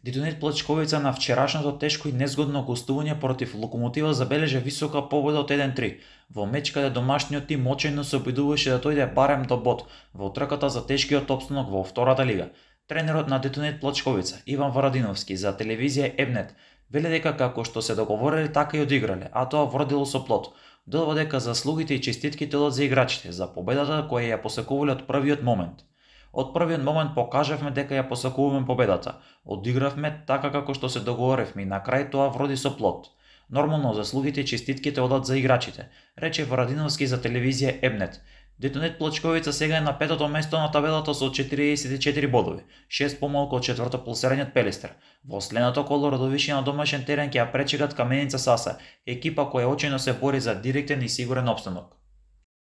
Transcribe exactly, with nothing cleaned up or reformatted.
Дитонет Плачковица на вчерашното тешко и незгодно гостување против Локомотива забележа висока победа од еден три, во меч каде домашниот тим очајно се обидуваше да дојде барем до бод во трката за тешкиот опстанок во втората лига. Тренерот на Дитонет Плачковица, Иван Варадиновски, за телевизија Ебнет, вели дека како што се договориле така и одиграле, а тоа вродило со плод. Додава дека заслугите и честитките одат за играчите за победата која ја посакувале од првиот момент. Од првиот момент покажавме дека ја посакуваме победата. Одигравме така како што се договоревме и на крај тоа вроди со плод. Нормално заслугите и честитките одат за играчите, рече Варадиновски за телевизија Ебнет. Дитонет Плачковица сега е на петото место на табелата со четириесет и четири бодови, шест помалку од четвртопласираниот Пелестер. Во следното коло родовиши на домашен терен ќе ја пречекат Каменица Саса, екипа која очајно се бори за директен и сигурен опстанок.